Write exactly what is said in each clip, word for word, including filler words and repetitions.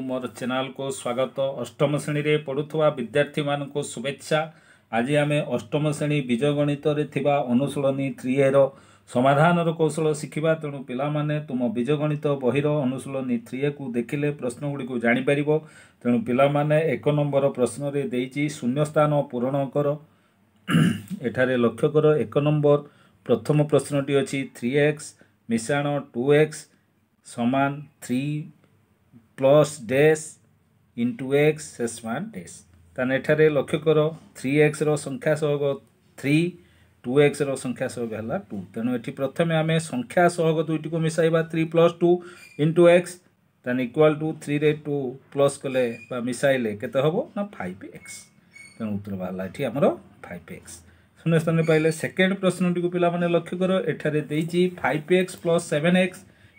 ମୋର ଚ୍ୟାନେଲକୁ ସ୍ୱାଗତ ଅଷ୍ଟମ ଶ୍ରେଣୀରେ ପଢ଼ୁଥିବା ବିଦ୍ୟାର୍ଥୀମାନଙ୍କୁ ଶୁଭେଚ୍ଛା ଆଜି ଆମେ ଅଷ୍ଟମ ଶ୍ରେଣୀ ବୀଜଗଣିତରେ ଥିବା ଅନୁଶୀଳନୀ ଥ୍ରୀ ଏର ସମାଧାନର କୌଶଳ ଶିଖିବା ତେଣୁ ପିଲାମାନେ ତୁମ ବୀଜଗଣିତ ବହିର ଅନୁଶୀଳନୀ ଥ୍ରୀ ଏକୁ ଦେଖିଲେ ପ୍ରଶ୍ନଗୁଡ଼ିକୁ ଜାଣିପାରିବ ତେଣୁ ପିଲାମାନେ ଏକ ନମ୍ବର ପ୍ରଶ୍ନରେ ଦେଇଛି ଶୂନ୍ୟସ୍ଥାନ ପୂରଣ କର ଏଠାରେ ଲକ୍ଷ୍ୟ କର ଏକ ନମ୍ବର ପ୍ରଥମ ପ୍ରଶ୍ନଟି ଅଛି ଥ୍ରୀ ଏକ୍ସ ମିଶାଣ ଟୁ ଏକ୍ସ ସମାନ three plus dash into x ସମାନ ଡେସ୍ ତାହେଲେ ଏଠାରେ ଲକ୍ଷ୍ୟ କର ଥ୍ରୀ ଏକ୍ସର ସଂଖ୍ୟା ସହଗ ଥ୍ରୀ ଟୁ ଏକ୍ସର ସଂଖ୍ୟା ସହଗ ହେଲା ଟୁ ତେଣୁ ଏଠି ପ୍ରଥମେ ଆମେ ସଂଖ୍ୟା ସହଗ ଦୁଇଟିକୁ ମିଶାଇବା three plus two into x ତାହେଲେ ଇକ୍ୱାଲ୍ ଟୁ ଥ୍ରୀରେ ଟୁ ପ୍ଲସ୍ କଲେ ବା ମିଶାଇଲେ କେତେ ହେବ ନା ଫାଇଭ୍ ଏକ୍ସ ତେଣୁ ଉତ୍ତର ବାହାରିଲା ଏଠି ଆମର ଫାଇଭ୍ ଏକ୍ସ ଶୂନ୍ୟ ସ୍ଥାନରେ ପାଇଲେ ସେକେଣ୍ଡ ପ୍ରଶ୍ନଟିକୁ ପିଲାମାନେ ଲକ୍ଷ୍ୟ କର ଏଠାରେ ଦେଇଛି five x plus seven x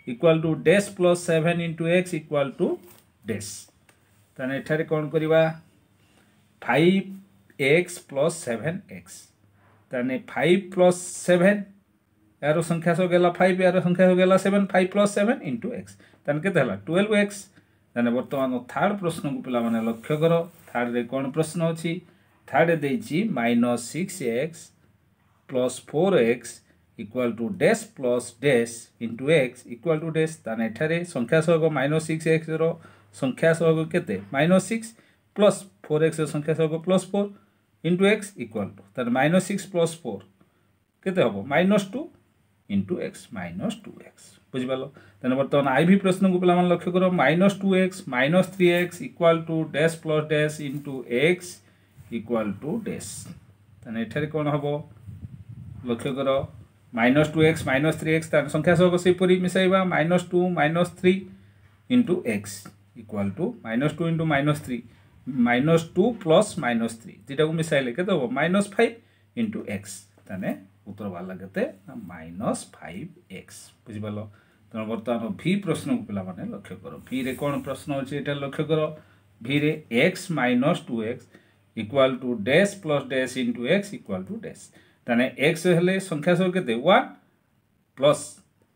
equal to dash plus seven into x equal to dash ତାହେଲେ ଏଠାରେ କ'ଣ କରିବା five x plus seven x ତାହେଲେ ଫାଇଭ୍ ପ୍ଲସ୍ ସେଭେନ୍ ଏହାର ସଂଖ୍ୟା ସହଗ ହେଲା ଫାଇଭ୍ ଏହାର ସଂଖ୍ୟା ସହଗ ହେଲା seven five plus seven into x ତାହେଲେ କେତେ ହେଲା ଟୁଏଲ୍ଭ ଏକ୍ସ ତାହେଲେ ବର୍ତ୍ତମାନ ଥାର୍ଡ଼ ପ୍ରଶ୍ନକୁ ପିଲାମାନେ ଲକ୍ଷ୍ୟ କର ଥାର୍ଡ଼ରେ କ'ଣ ପ୍ରଶ୍ନ ଅଛି ଥାର୍ଡ଼ରେ ଦେଇଛି minus six x plus four x equal to dash plus dash into x equal to dash ତାହେଲେ ଏଠାରେ ସଂଖ୍ୟା ସହଗ ମାଇନସ୍ ସିକ୍ସ ଏକ୍ସର ସଂଖ୍ୟା ସହଗ କେତେ ମାଇନସ୍ ସିକ୍ସ ପ୍ଲସ୍ ଫୋର୍ ଏକ୍ସର ସଂଖ୍ୟା ସହଗ plus four into x equal to ତାହେଲେ ମାଇନସ୍ ସିକ୍ସ ପ୍ଲସ୍ ଫୋର୍ କେତେ ହେବ minus two into x minus two x ବୁଝିପାରିଲ ତାହେଲେ ବର୍ତ୍ତମାନ I V ପ୍ରଶ୍ନକୁ ପିଲାମାନେ ଲକ୍ଷ୍ୟ କର minus two x minus three x equal to dash plus dash into x equal to dash ତାହେଲେ ଏଠାରେ କ'ଣ ହେବ ଲକ୍ଷ୍ୟ କର minus two x minus three x ତାର ସଂଖ୍ୟା ସହଗ ସେହିପରି ମିଶାଇବା minus two minus three into x equal to minus two into minus three minus two plus minus three ଦୁଇଟାକୁ ମିଶାଇଲେ କେତେ ହେବ ମାଇନସ୍ ଫାଇଭ୍ ଇଣ୍ଟୁ ଏକ୍ସ ତାହେଲେ ଉତ୍ତର ବାହାରିଲା କେତେ ନା ମାଇନସ୍ ଫାଇଭ୍ ଏକ୍ସ ବୁଝିପାରିଲ ତେଣୁ ବର୍ତ୍ତମାନ ଭି ପ୍ରଶ୍ନକୁ ପିଲାମାନେ ଲକ୍ଷ୍ୟ କର ଭିରେ କ'ଣ ପ୍ରଶ୍ନ ଅଛି ଏଇଟା ଲକ୍ଷ୍ୟ କର ଭିରେ x minus two x equal to dash plus dash into x equal to dash ତାହେଲେ ଏକ୍ସ ହେଲେ ସଂଖ୍ୟା ସହଗ କେତେ ୱାନ୍ ପ୍ଲସ୍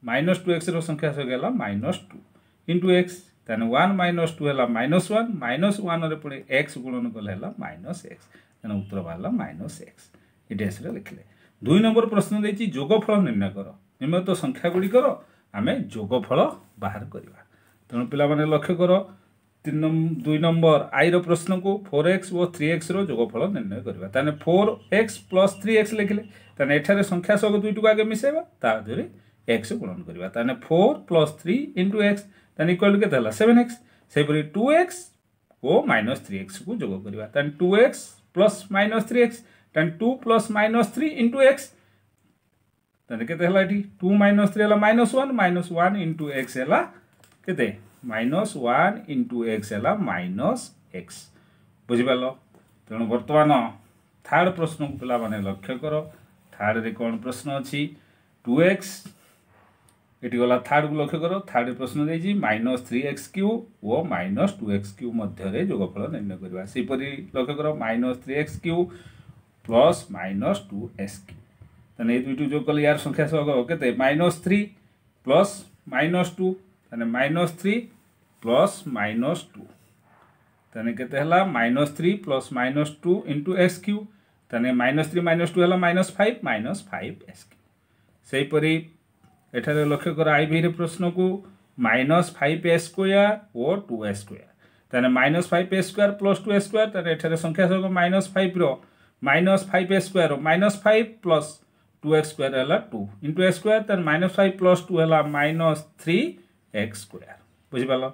ମାଇନସ୍ ଟୁ ଏକ୍ସର ସଂଖ୍ୟା ସହଗ ହେଲା ମାଇନସ୍ ଟୁ ଇଣ୍ଟୁ ଏକ୍ସ ତାହେଲେ ୱାନ୍ ମାଇନସ୍ ଟୁ ହେଲା ମାଇନସ୍ ୱାନ୍ ମାଇନସ୍ ୱାନ୍ରେ ପୁଣି ଏକ୍ସ ଗୁଣନ କଲେ ହେଲା ମାଇନସ୍ ଏକ୍ସ ତେଣୁ ଉତ୍ତର ବାହାରିଲା ମାଇନସ୍ ଏକ୍ସ ଏ ଡ୍ୟାସ୍ରେ ଲେଖିଲେ ଦୁଇ ନମ୍ବର ପ୍ରଶ୍ନ ଦେଇଛି ଯୋଗଫଳ ନିର୍ଣ୍ଣୟ କର ନିମ୍ନୋକ୍ତ ସଂଖ୍ୟା ଗୁଡ଼ିକର ଆମେ ଯୋଗଫଳ ବାହାର କରିବା ତେଣୁ ପିଲାମାନେ ଲକ୍ଷ୍ୟ କର ତିନି ଦୁଇ ନମ୍ବର ଆଇର ପ୍ରଶ୍ନକୁ ଫୋର୍ ଏକ୍ସ ଓ ଥ୍ରୀ ଏକ୍ସର ଯୋଗଫଳ ନିର୍ଣ୍ଣୟ କରିବା ତାହେଲେ four x plus three x ଲେଖିଲେ ତାହେଲେ ଏଠାରେ ସଂଖ୍ୟା ସହଗ ଦୁଇଟିକୁ ଆଗେ ମିଶାଇବା ତା ଦେହରେ ଏକ୍ସ ଗୁଣନ କରିବା ତାହେଲେ four plus three into x ତାହେଲେ ଇକ୍ୱାଲ୍ ଟୁ କେତେ ହେଲା ସେଭେନ୍ ଏକ୍ସ ସେହିପରି ଟୁ ଏକ୍ସ ଓ ମାଇନସ୍ ଥ୍ରୀ ଏକ୍ସକୁ ଯୋଗ କରିବା ତାହେଲେ two x plus minus three x ତାହେଲେ two plus minus three into x ତାହେଲେ କେତେ ହେଲା ଏଠି ଟୁ ମାଇନସ୍ ଥ୍ରୀ ହେଲା minus one minus one into x ହେଲା କେତେ ମାଇନସ୍ ୱାନ୍ ଇଣ୍ଟୁ ଏକ୍ସ ହେଲା ମାଇନସ୍ ଏକ୍ସ ବୁଝିପାରିଲ ତେଣୁ ବର୍ତ୍ତମାନ ଥାର୍ଡ଼ ପ୍ରଶ୍ନକୁ ପିଲାମାନେ ଲକ୍ଷ୍ୟ କର ଥାର୍ଡ଼ରେ କ'ଣ ପ୍ରଶ୍ନ ଅଛି ଟୁ ଏକ୍ସ ଏଠି ଗଲା ଥାର୍ଡ଼କୁ ଲକ୍ଷ୍ୟ କର ଥାର୍ଡ଼ ପ୍ରଶ୍ନ ଦେଇଛି ମାଇନସ୍ ଥ୍ରୀ ଏକ୍ସ କ୍ୟୁବ୍ ଓ ମାଇନସ୍ ଟୁ ଏକ୍ସ କ୍ୟୁବ୍ ମଧ୍ୟରେ ଯୋଗଫଳ ନିର୍ଣ୍ଣୟ କରିବା ସେହିପରି ଲକ୍ଷ୍ୟ କର minus three x cube plus minus two x cube ତାହେଲେ ଏଇ ଦୁଇଟି ଯୋଗ କଲେ ୟାର ସଂଖ୍ୟା ସହଗ କେତେ minus three plus minus two ତାହେଲେ minus three plus minus two ତାହେଲେ କେତେ ହେଲା minus three plus minus two into x cube ତାହେଲେ ମାଇନସ୍ ଥ୍ରୀ ମାଇନସ୍ ଟୁ ହେଲା minus five minus five x cube ସେହିପରି ଏଠାରେ ଲକ୍ଷ୍ୟ କର I ଭିରେ ପ୍ରଶ୍ନକୁ ମାଇନସ୍ ଫାଇଭ୍ ଏକ୍ସ ସ୍କୋୟାର ଓ ଟୁ ଏକ୍ସ ସ୍କୋୟାର ତାହେଲେ minus five x square plus two x square ତାହେଲେ ଏଠାରେ ସଂଖ୍ୟା ସହଗ minus ଫାଇଭ୍ର minus five x square minus five plus two x square ହେଲା ଟୁ ଇଣ୍ଟୁ ଏକ୍ସ ସ୍କୋୟାର ତାହେଲେ minus five plus two ହେଲା minus three X square ବୁଝିପାରିଲ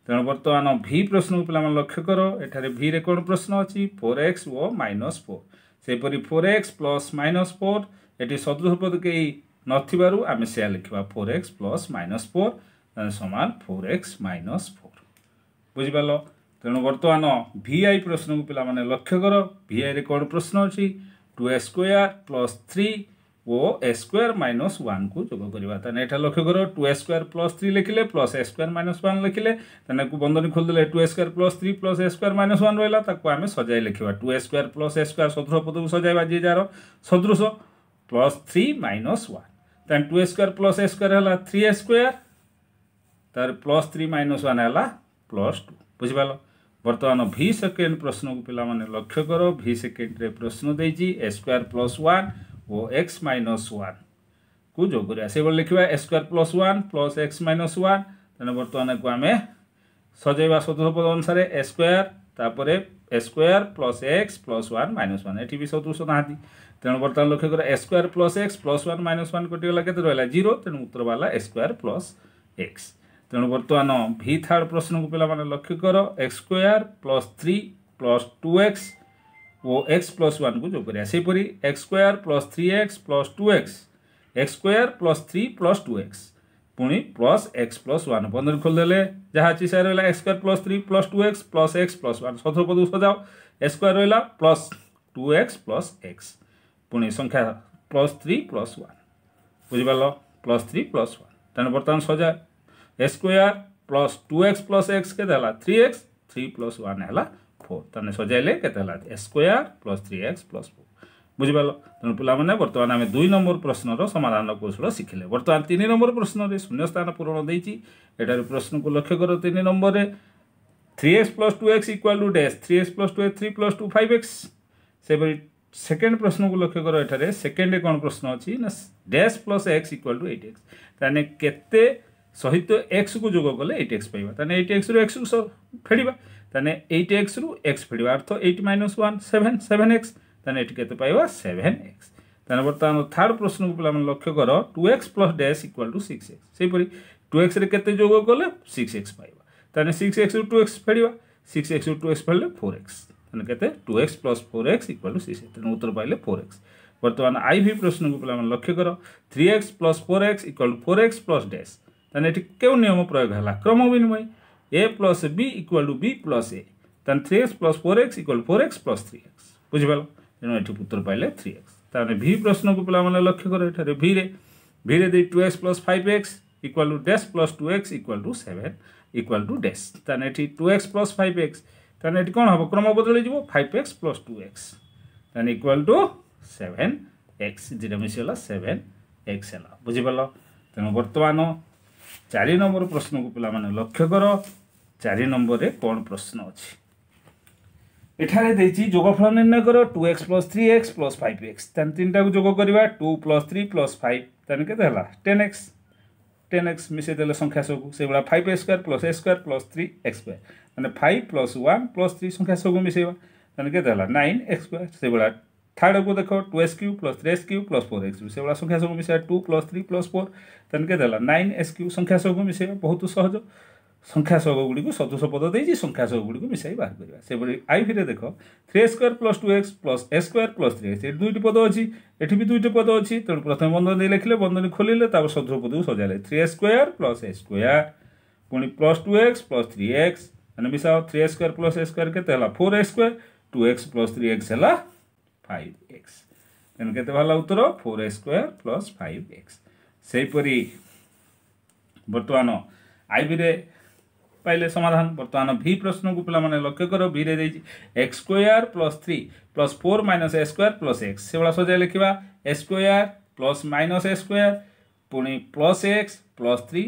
ତେଣୁ ବର୍ତ୍ତମାନ ଭି ପ୍ରଶ୍ନକୁ ପିଲାମାନେ ଲକ୍ଷ୍ୟ କର ଏଠାରେ ଭିରେ କ'ଣ ପ୍ରଶ୍ନ ଅଛି ଫୋର୍ ଏକ୍ସ ଓ ମାଇନସ୍ ଫୋର୍ ସେହିପରି four x plus minus four ଏଠି ସଦୃଶ ପଦ କେହି ନଥିବାରୁ ଆମେ ସେୟା ଲେଖିବା four x plus minus four ସମାନ ଫୋର୍ ଏକ୍ସ ମାଇନସ୍ ଫୋର୍ ବୁଝିପାରିଲ ତେଣୁ ବର୍ତ୍ତମାନ ଭି I ପ୍ରଶ୍ନକୁ ପିଲାମାନେ ଲକ୍ଷ୍ୟ କର ଭି ଆଇରେ କ'ଣ ପ୍ରଶ୍ନ ଅଛି two x square plus three ଓ ଏକ୍ସ ସ୍କୋୟାର ମାଇନସ୍ ୱାନ୍କୁ ଯୋଗ କରିବା ତାହେଲେ ଏଠା ଲକ୍ଷ୍ୟ କର two x square plus three ଲେଖିଲେ plus x square minus one ଲେଖିଲେ ତାହେଲେ ବନ୍ଧନୀ ଖୋଲିଦେଲେ two x square plus three plus x square minus one ରହିଲା ତାକୁ ଆମେ ସଜାଇ ଲେଖିବା two x square plus x square ସଦୃଶ ପଦକୁ ସଜାଇବା ଯିଏ ଯାହାର ସଦୃଶ ପ୍ଲସ୍ ଥ୍ରୀ ମାଇନସ୍ ୱାନ୍ ତାହେଲେ two x square plus x square ହେଲା ଥ୍ରୀ ଏକ୍ସ ସ୍କୋୟାର ତାର ପ୍ଲସ୍ ଥ୍ରୀ ମାଇନସ୍ ୱାନ୍ ହେଲା ପ୍ଲସ୍ ଟୁ ବୁଝିପାରିଲ ବର୍ତ୍ତମାନ ଭି ସେକେଣ୍ଡ ପ୍ରଶ୍ନକୁ ପିଲାମାନେ ଲକ୍ଷ୍ୟ କର ଭି ସେକେଣ୍ଡରେ ପ୍ରଶ୍ନ ଦେଇଛି ଏ ସ୍କୋୟାର ପ୍ଲସ୍ ୱାନ୍ ଓ ଏକ୍ସ ମାଇନସ୍ ୱାନ୍ କୁ ଯୋଗ କରିବା ସେଇଭଳି ଲେଖିବା a square plus one plus x minus one ତେଣୁ ବର୍ତ୍ତମାନ ଏକୁ ଆମେ ସଜେଇବା ସଦୃଶ ପଦ ଅନୁସାରେ ଏ ସ୍କୋୟାର ତାପରେ a square plus x plus one minus one ଏଠି ବି ସଦୃଶ ନାହାନ୍ତି ତେଣୁ ବର୍ତ୍ତମାନ ଲକ୍ଷ୍ୟ କର a square plus x plus one minus one କଟିଗଲା କେତେ ରହିଲା ଜିରୋ ତେଣୁ ଉତ୍ତର ବାହାରିଲା ଏ ସ୍କୋୟାର ପ୍ଲସ୍ ଏକ୍ସ ତେଣୁ ବର୍ତ୍ତମାନ ଭି ଥାର୍ଡ଼ ପ୍ରଶ୍ନକୁ ପିଲାମାନେ ଲକ୍ଷ୍ୟ କର x square plus three plus two x ଓ ଏକ୍ସ ପ୍ଲସ୍ ୱାନ୍କୁ ଯୋଗ କରିବା ସେହିପରି x square plus three x plus two x x square plus three plus two x ପୁଣି ପ୍ଲସ୍ ଏକ୍ସ ପ୍ଲସ୍ ୱାନ୍ ବନ୍ଧନୀ ଖୋଲିଦେଲେ ଯାହା ଅଛି ସେୟା ରହିଲା x square plus three plus two x plus x plus one ସଦୃଶ ପଦକୁ ସଜାଅ ଏକ୍ସ ସ୍କୋୟାର ରହିଲା plus two x plus x ପୁଣି ସଂଖ୍ୟା ପ୍ଲସ୍ ଥ୍ରୀ ପ୍ଲସ୍ ୱାନ୍ ବୁଝିପାରିଲ ପ୍ଲସ୍ ଥ୍ରୀ ପ୍ଲସ୍ ୱାନ୍ ତେଣୁ ବର୍ତ୍ତମାନ ସଜା x square plus two x plus x କେତେ ହେଲା three x three plus one ହେଲା ଫୋର୍ ତାହେଲେ ସଜାଇଲେ କେତେ ହେଲା x square plus three x plus four ବୁଝିପାରିଲ ତେଣୁ ପିଲାମାନେ ବର୍ତ୍ତମାନ ଆମେ ଦୁଇ ନମ୍ବର ପ୍ରଶ୍ନର ସମାଧାନ କୌଶଳ ଶିଖିଲେ ବର୍ତ୍ତମାନ ତିନି ନମ୍ବର ପ୍ରଶ୍ନରେ ଶୂନ୍ୟସ୍ଥାନ ପୂରଣ ଦେଇଛି ଏଠାରେ ପ୍ରଶ୍ନକୁ ଲକ୍ଷ୍ୟ କର ତିନି ନମ୍ବରରେ three x plus two x equal to dash three x plus two x three plus two five x ସେହିପରି ସେକେଣ୍ଡ ପ୍ରଶ୍ନକୁ ଲକ୍ଷ୍ୟ କର ଏଠାରେ ସେକେଣ୍ଡରେ କ'ଣ ପ୍ରଶ୍ନ ଅଛି ନା dash plus x equal to eight x ତାହେଲେ କେତେ ସହିତ ଏକ୍ସକୁ ଯୋଗ କଲେ ଏଇଟ୍ ଏକ୍ସ ପାଇବା ତାହେଲେ ଏଇଟ୍ ଏକ୍ସରୁ ଏକ୍ସକୁ ଫେଡ଼ିବା ତାହେଲେ ଏଇଟ୍ ଏକ୍ସରୁ ଏକ୍ସ ଫେଡ଼ିବା ଅର୍ଥ eight minus one seven seven x ତାହେଲେ ଏଠି କେତେ ପାଇବା ସେଭେନ୍ ଏକ୍ସ ତାହେଲେ ବର୍ତ୍ତମାନ ଥାର୍ଡ଼ ପ୍ରଶ୍ନକୁ ପିଲାମାନେ ଲକ୍ଷ୍ୟ କର two x plus dash equal to six x ସେହିପରି ଟୁ ଏକ୍ସରେ କେତେ ଯୋଗ କଲେ ସିକ୍ସ ଏକ୍ସ ପାଇବା ତାହେଲେ ସିକ୍ସ ଏକ୍ସରୁ ଟୁ ଏକ୍ସ ଫେଡ଼ିବା ସିକ୍ସ ଏକ୍ସରୁ ଟୁ ଏକ୍ସ ଫେଡ଼ିଲେ ଫୋର୍ ଏକ୍ସ ତାହେଲେ କେତେ two x plus four x equal to six ତେଣୁ ଉତ୍ତର ପାଇଲେ ଫୋର୍ ଏକ୍ସ ବର୍ତ୍ତମାନ I V ପ୍ରଶ୍ନକୁ ପିଲାମାନେ ଲକ୍ଷ୍ୟ କର three x plus four x equal to four x plus dash ତାହେଲେ ଏଠି କେଉଁ ନିୟମ ପ୍ରୟୋଗ ହେଲା କ୍ରମ ବିନିମୟ a plus b equal to b plus a ତାହେଲେ three x plus four x equal four x plus three x ବୁଝିପାରିଲ ତେଣୁ ଏଠି ଉତ୍ତର ପାଇଲେ ଥ୍ରୀ ଏକ୍ସ ତାହେଲେ ଭି ପ୍ରଶ୍ନକୁ ପିଲାମାନେ ଲକ୍ଷ୍ୟ କର ଏଠାରେ ଭିରେ ଭିରେ ଦେଇ two x plus five x equal to dash plus two x equal to seven equal to dash ତାହେଲେ ଏଠି two x plus five x ତାହେଲେ ଏଠି କ'ଣ ହେବ କ୍ରମ ବଦଳିଯିବ five x plus two x ତାହେଲେ ଇକ୍ୱାଲ୍ ଟୁ ସେଭେନ୍ ଏକ୍ସ ଦୁଇଟା ମିଶିଗଲା ସେଭେନ୍ ଏକ୍ସ ହେଲା ବୁଝିପାରିଲ ତେଣୁ ବର୍ତ୍ତମାନ ଚାରି ନମ୍ବର ପ୍ରଶ୍ନକୁ ପିଲାମାନେ ଲକ୍ଷ୍ୟ କର ଚାରି ନମ୍ବରରେ କ'ଣ ପ୍ରଶ୍ନ ଅଛି ଏଠାରେ ଦେଇଛି ଯୋଗଫଳ ନିର୍ଣ୍ଣୟ କର two x plus three x plus five x ତାହେଲେ ତିନିଟାକୁ ଯୋଗ କରିବା two plus three plus five ତାହେଲେ କେତେ ହେଲା ଟେନ୍ ଏକ୍ସ ଟେନ୍ ଏକ୍ସ ମିଶାଇ ଦେଲେ ସଂଖ୍ୟା ସବୁ ସେଇଭଳିଆ five x square plus x square plus three x square ମାନେ five plus one plus three ସଂଖ୍ୟା ସବୁ ମିଶାଇବା ତାହେଲେ କେତେ ହେଲା ନାଇନ୍ ଏକ୍ସ ସ୍କୋୟାର ସେଇଭଳିଆ ଥାର୍ଡ଼କୁ ଦେଖ two x cube plus three x cube plus four x ସେଇଭଳିଆ ସଂଖ୍ୟା ସବୁ ମିଶାଇବା two plus three plus four ତାହେଲେ କେତେ ହେଲା ନାଇନ୍ ଏକ୍ସ କ୍ୟୁବ୍ ସଂଖ୍ୟା ସବୁ ମିଶାଇବା ବହୁତ ସହଜ ସଂଖ୍ୟା ସହଗ ଗୁଡ଼ିକୁ ସଦୃଶ ପଦ ଦେଇଛି ସଂଖ୍ୟା ସହଗ ଗୁଡ଼ିକୁ ମିଶାଇ ବାହାର କରିବା ସେଭଳି ଆଇଭିରେ ଦେଖ three x square plus two x plus x square plus three x ଏଠି ଦୁଇଟି ପଦ ଅଛି ଏଠି ବି ଦୁଇଟି ପଦ ଅଛି ତେଣୁ ପ୍ରଥମେ ବନ୍ଧନୀ ଦେଇ ଲେଖିଲେ ବନ୍ଧନୀ ଖୋଲିଲେ ତାପରେ ସଦୃଶ ପଦକୁ ସଜାଇଲେ three x square plus x square ପୁଣି plus two x plus three x ମାନେ ମିଶାଅ three x square plus x square କେତେ ହେଲା four x square two x plus three x ହେଲା ଫାଇଭ୍ ଏକ୍ସ ତେଣୁ କେତେ ବାହାରିଲା ଉତ୍ତର four x square plus five x ସେହିପରି ବର୍ତ୍ତମାନ ଆଇଭିରେ ପାଇଲେ ସମାଧାନ ବର୍ତ୍ତମାନ ଭି ପ୍ରଶ୍ନକୁ ପିଲାମାନେ ଲକ୍ଷ୍ୟ କର ଭିରେ ଦେଇଛି x square plus three plus four minus x square plus x ସେଭଳିଆ ସଜାଇ ଲେଖିବା x square plus minus x square ପୁଣି plus x plus three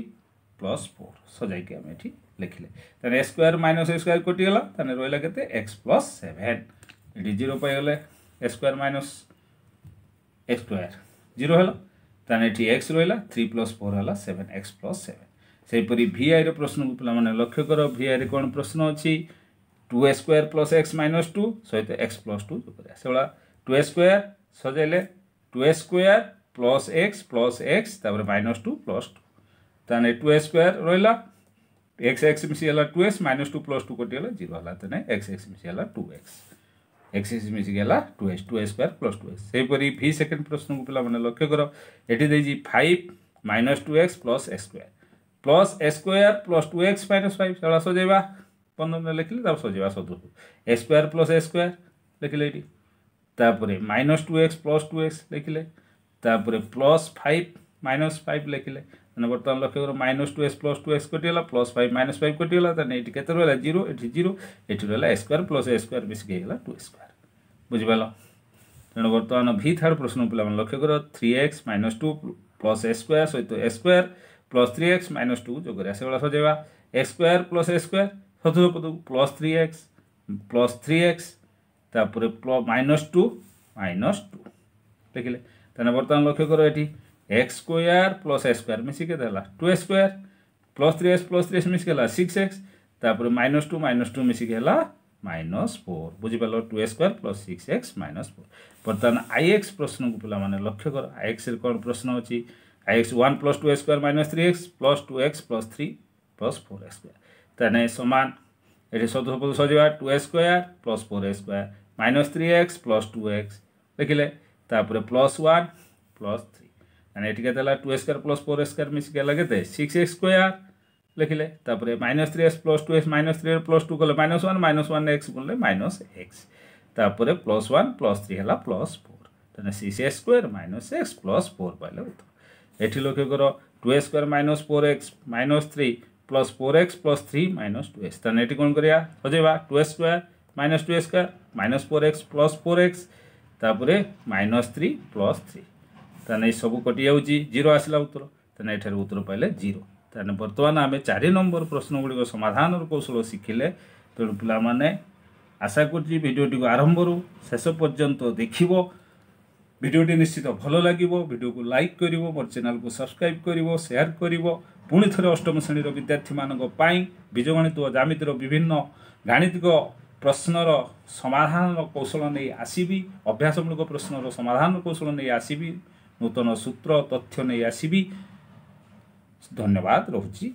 plus four ସଜାଇକି ଆମେ ଏଠି ଲେଖିଲେ ତାହେଲେ x square minus x square କଟିଗଲା ତାହେଲେ ରହିଲା କେତେ ଏକ୍ସ ପ୍ଲସ୍ ସେଭେନ୍ ଏଠି ଜିରୋ ପାଇଗଲେ x square minus x square zero ହେଲା ତାହେଲେ ଏଠି ଏକ୍ସ ରହିଲା ଥ୍ରୀ ପ୍ଲସ୍ ଫୋର୍ ହେଲା ସେଭେନ୍ ଏକ୍ସ ପ୍ଲସ୍ ସେଭେନ୍ ସେହିପରି ଭିଆଇର ପ୍ରଶ୍ନକୁ ପିଲାମାନେ ଲକ୍ଷ୍ୟ କର ଭିଆଇରେ କ'ଣ ପ୍ରଶ୍ନ ଅଛି two x square plus x minus two ସହିତ ଏକ୍ସ ପ୍ଲସ୍ ଟୁ ଯୋଗ କରିବା ସେଭଳିଆ ଟୁ ଏକ୍ସ ସ୍କୋୟାର ସଜାଇଲେ two x square plus x plus x ତାପରେ ମାଇନସ୍ ଟୁ ପ୍ଲସ୍ ଟୁ ତାହେଲେ ଟୁ ଏକ୍ସ ସ୍କୋୟାର ରହିଲା ଏକ୍ସ ଏକ୍ସ ମିଶିଗଲା two x minus two plus two କଟିଗଲା ଜିରୋ ହେଲା ତେଣୁ ଏକ୍ସ ଏକ୍ସ ମିଶିଗଲା ଟୁ ଏକ୍ସ ଏକ୍ସ ଏକ୍ସ ମିଶିଗଲା two x two x square plus two x ସେହିପରି ଭି ସେକେଣ୍ଡ ପ୍ରଶ୍ନକୁ ପିଲାମାନେ ଲକ୍ଷ୍ୟ କର ଏଠି ଦେଇଛି five minus two x plus x square plus x square plus two x minus five ସେଗୁଡ଼ା ସଜେଇବା ପନ୍ଦର ଲେଖିଲେ ତାପରେ ସଜେଇବା ସଦୃଶ x square plus x square ଲେଖିଲେ ଏଇଠି ତାପରେ minus two x plus two x ଲେଖିଲେ ତାପରେ ପ୍ଲସ୍ ଫାଇଭ୍ ମାଇନସ୍ ଫାଇଭ୍ ଲେଖିଲେ ମାନେ ବର୍ତ୍ତମାନ ଲକ୍ଷ୍ୟ କର minus two x plus two x କଟିଗଲା ପ୍ଲସ୍ ଫାଇଭ୍ ମାଇନସ୍ ଫାଇଭ୍ କଟିଗଲା ତାହେଲେ ଏଇଠି କେତେ ରହିଲା ଜିରୋ ଏଠି ଜିରୋ ଏଠି ରହିଲା x square plus x square ମିଶିକି ହେଇଗଲା ଟୁ ଏକ୍ସ ସ୍କୋୟାର ବୁଝିପାରିଲ ତେଣୁ ବର୍ତ୍ତମାନ ଭି ଥାର୍ଡ଼ ପ୍ରଶ୍ନ ପିଲାମାନେ ଲକ୍ଷ୍ୟ କର three x minus two plus x square ସହିତ x square plus three x minus two ଯୋଗ କରିବା ସେଭଳିଆ ସଜେଇବା x square plus x square ଚତୁର୍ଥ ପଦକୁ plus three x plus three x ତାପରେ ମାଇନସ୍ ଟୁ ମାଇନସ୍ ଟୁ ଲେଖିଲେ ତାହେଲେ ବର୍ତ୍ତମାନ ଲକ୍ଷ୍ୟ କର ଏଠି x square plus a square ମିଶିକି କେତେ ହେଲା two a square plus three x plus three x ମିଶିକି ହେଲା ସିକ୍ସ ଏକ୍ସ ତାପରେ ମାଇନସ୍ ଟୁ ମାଇନସ୍ ଟୁ ମିଶିକି ହେଲା ମାଇନସ୍ ଫୋର୍ ବୁଝିପାରିଲ two a square plus six x minus four ବର୍ତ୍ତମାନ I X ପ୍ରଶ୍ନକୁ ପିଲାମାନେ ଲକ୍ଷ୍ୟ କର I ଏକ୍ସରେ କ'ଣ ପ୍ରଶ୍ନ ଅଛି I x one plus two a square minus three x plus two x plus three plus four x square ତାହେଲେ ସମାନ ଏଠି ଚତୁର୍ଥ ପଦ ସଜେଇବା two a square plus four a square minus three x plus two x ଲେଖିଲେ ତାପରେ plus one plus three ମାନେ ଏଠି କେତେ ହେଲା two a square plus four a square ମିଶିକି ହେଲା କେତେ ସିକ୍ସ ଏକ୍ସ ସ୍କୋୟାର ଲେଖିଲେ ତାପରେ minus three x plus two x minus three plus two କଲେ minus one minus one x କଲେ ମାଇନସ୍ ଏକ୍ସ ତାପରେ ପ୍ଲସ୍ ୱାନ୍ ପ୍ଲସ୍ ଥ୍ରୀ ହେଲା plus four ତାହେଲେ six x square minus x plus four ପାଇଲେ ଉତ୍ତର ଏଠି ଲକ୍ଷ୍ୟ କର two a square minus four x minus three plus four x plus three minus two x ତାହେଲେ ଏଠି କ'ଣ କରିବା ସଜେଇବା two a square minus two a square minus four x plus four x ତାପରେ ମାଇନସ୍ ଥ୍ରୀ ପ୍ଲସ୍ ଥ୍ରୀ ତାହେଲେ ଏସବୁ କଟିଯାଉଛି zero ଆସିଲା ଉତ୍ତର ତାହେଲେ ଏଠାରେ ଉତ୍ତର ପାଇଲେ ଜିରୋ ତାହେଲେ ବର୍ତ୍ତମାନ ଆମେ ଚାରି ନମ୍ବର ପ୍ରଶ୍ନ ଗୁଡ଼ିକ ସମାଧାନର କୌଶଳ ଶିଖିଲେ ତେଣୁ ପିଲାମାନେ ଆଶା କରୁଛି ଭିଡ଼ିଓଟିକୁ ଆରମ୍ଭରୁ ଶେଷ ପର୍ଯ୍ୟନ୍ତ ଦେଖିବ ଭିଡ଼ିଓଟି ନିଶ୍ଚିତ ଭଲ ଲାଗିବ ଭିଡ଼ିଓକୁ ଲାଇକ୍ କରିବ ମୋର ଚ୍ୟାନେଲକୁ ସବସ୍କ୍ରାଇବ୍ କରିବ ସେୟାର କରିବ ପୁଣି ଥରେ ଅଷ୍ଟମ ଶ୍ରେଣୀର ବିଦ୍ୟାର୍ଥୀମାନଙ୍କ ପାଇଁ ବୀଜଗଣିତ ଓ ଜ୍ୟାମିତିର ବିଭିନ୍ନ ଗାଣିତିକ ପ୍ରଶ୍ନର ସମାଧାନର କୌଶଳ ନେଇ ଆସିବି ଅଭ୍ୟାସମୂଳକ ପ୍ରଶ୍ନର ସମାଧାନ କୌଶଳ ନେଇ ଆସିବି ନୂତନ ସୂତ୍ର ତଥ୍ୟ ନେଇ ଆସିବି ଧନ୍ୟବାଦ ରହୁଛି